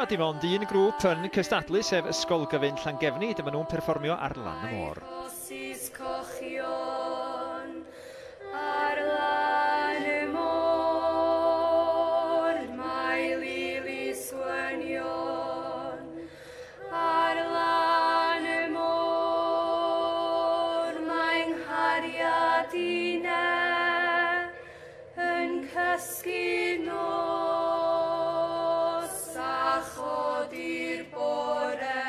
A dim ond un grŵp yn cystadlu, sef Ysgol Gyfun Llangefni, dyma nhw'n perfformio Ar Lan y Môr. Ar lan y môr, mae lilis wynion. Ar lan y môr, mae 'nghariad inne yn cysgu nos a chodi'r bore.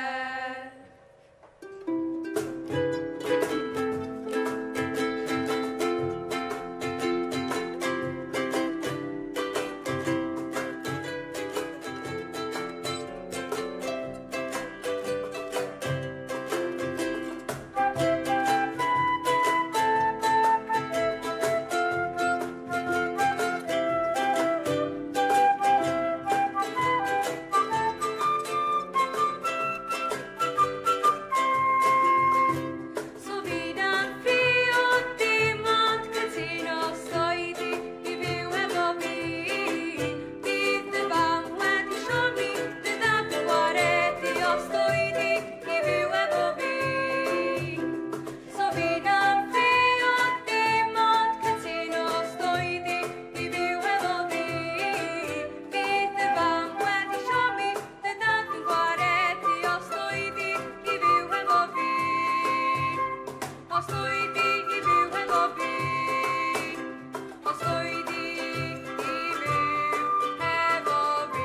So fi'n priod dim ond cytuno os oedi i fyw efo fi. Bydd dy fam wedi siomi, dy dad yn gwaredu os oedi i fyw efo fi. So fi'n priod dim ond cytuno os oedi i fyw efo fi. Bydd dy fam wedi siomi, dy dad yn gwaredu os oedi i fyw efo fi. Os oedi i fyw hefo fi. Os oedi i fyw hefo fi.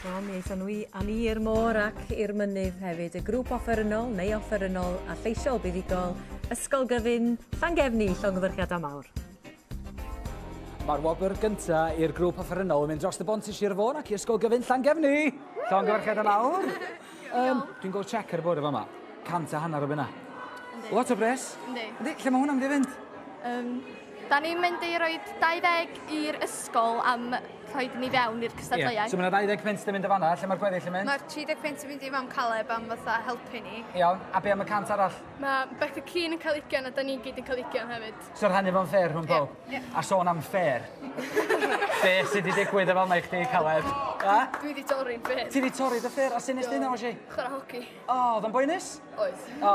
Wel, mi aethon nhw â ni i'r môr ac i'r mynydd hefyd. Y grŵp offerynnol neu offerynnol a lleisiol buddugol, Ysgol Gyfun Llangefni, llongyfarchiadau mawr. Mae'r wobr gynta i'r grŵp offerynnol yn mynd dros y bont i Sir Fôn ac i Ysgol Gyfun Llangefni. Llongyfarchiadau mawr. Dwi'n gweld check ar y bwrdd efo yma. 150 o bunna. Lot o bres. Yndi. Yndi, lle mae hwnna'n mynd i fynd? Da ni'n mynd i roi 20 i'r ysgol am rhoi ni fewn i'r cystadleuaeth. So mae yna 20 punt yn mynd o fanna, lle mae'r gweddill yn mynd? Mae'r 30 punt yn mynd i mam Caleb am fatha helpu ni. Iawn, a be am y 100 arall? Mae Becca Keane yn cael 20 a da ni'n gyd yn cael 20 hefyd. So rhannu fo'n fair rhwng pob? Ie. A sôn am fair. Be sydd wedi digwydd efo yma i chdi, Caleb? A? Dwi wedi torri'n ffêr. Ti wedi torri dy ffêr, a sut nes di hynna, Osi? Chwarae hoci. O, oedd o'n boenus? Oedd. O,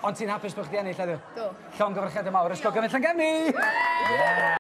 ond ti'n hapus bod chdi ennill heddiw? Do. Llongyfarchiadau mawr, Ysgol Gyfun Llangefni! Yeah!